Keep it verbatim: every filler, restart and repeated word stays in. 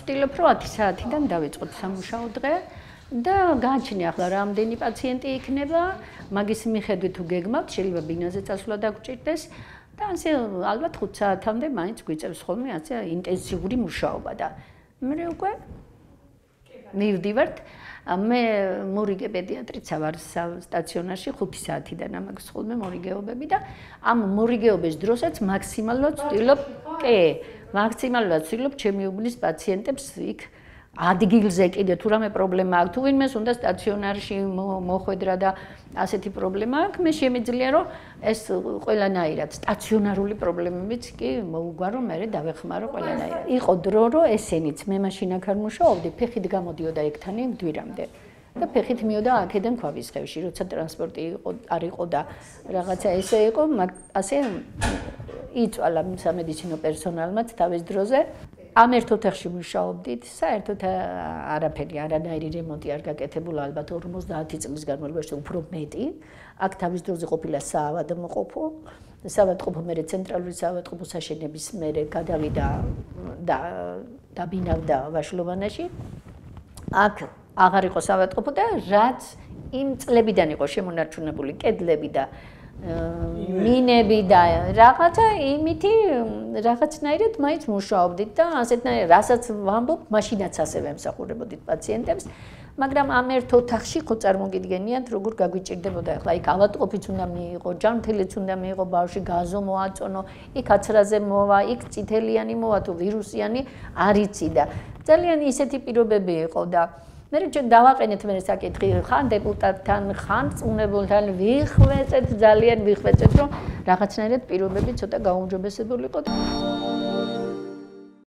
ვცდილობ, რომ ათი საათიდან დავიწყოთ სამუშაო დღე და გააჩნია ახლა რამდენი პაციენტი იქნება, მაგის მიხედვით თუ გეგმავთ, შეიძლება ბინაზე წასვლა დაგჭირდეს და ასე ალბათ ხუთ საათამდე მაინც გვიწევს ხოლმე ასე ინტენსიური მუშაობა და მე უკვე მივდივართ. მე მორიგე პედიატრიცა ვარ სტაციონარში ხუთი საათიდან ამაქვს ხოლმე მორიგეობები და ამ მორიგეობის დროსაც მაქსიმალურად ვცდილობ, კი, მაქსიმალურად ვცდილობ ჩემი უბნის პაციენტებს იქ ადგილზე კიდე თუ რამე პრობლემა აქვს, თუ ვინმეს უნდა სტაციონარში მოხვედრა და ასეთი პრობლემა აქვს, მე შემიძლია რომ ეს ყველანაირად სტაციონარული პრობლემებიც კი მოუგვარო, მე დავეხმარო ყველანაირად. იყო დრო რომ ესენიც მე მაშინ აქ არ მუშაობდი, ფეხით გამოდიოდა ეგთანი მდვირამდე. და ფეხით მივიდა აქედან ქვაბისხევში, როცა ტრანსპორტი იყო არ იყო და რაღაცა ესე იყო, ასე იწვალა სამედიცინო პერსონალმაც თავის დროზე. ამ ერთ ოთახში მუშაობდით, საერთოდ არაფერი, არანაირი რემონტი არ გაკეთებულა, ალბათ ორმოცდაათი წლის განმავლობაში უფრო მეტი. აქ თავის დროზე ყოფილა საავადმყოფო, საავადმყოფო მერე ცენტრალური საავადმყოფო საშენების მერე გადავიდა და დაბინავდა ვაშლოვანაში. აქ აღარ იყო საავადმყოფო და რაც იმ წლებიდან იყო შემონარჩუნებული კედლები და მინები და რაღაცა იმითი რაღაცნაირად მაინც მუშაობდით და ასეთნაირად რასაც ვამბობ, მაშინაც ასე ვემსახურებოდით პაციენტებს, მაგრამ ამ ერთ ოთახში ხო წარმოგიდგენიათ, როგორ გაგვიჭირდებოდა ახლა იქ ავადმყოფიც უნდა მიიღო, ჯანმრთელიც უნდა მიიღო, ბავშვი გაზო მოაწონო, იქ აცრაზე მოვა, იქ წითელიანი მოვა თუ ვირუსიანი არ იცი და ძალიან ისეთი პირობები იყო და მე ჩვენ დავაყენეთ მე საკითხი ხან დეპუტატთან, ხან წუნებულთან ვიხვეწეთ, ძალიან ვიხვეწეთ, რომ რაღაცნაირად პირობები ცოტა გაუმჯობესებულიყო.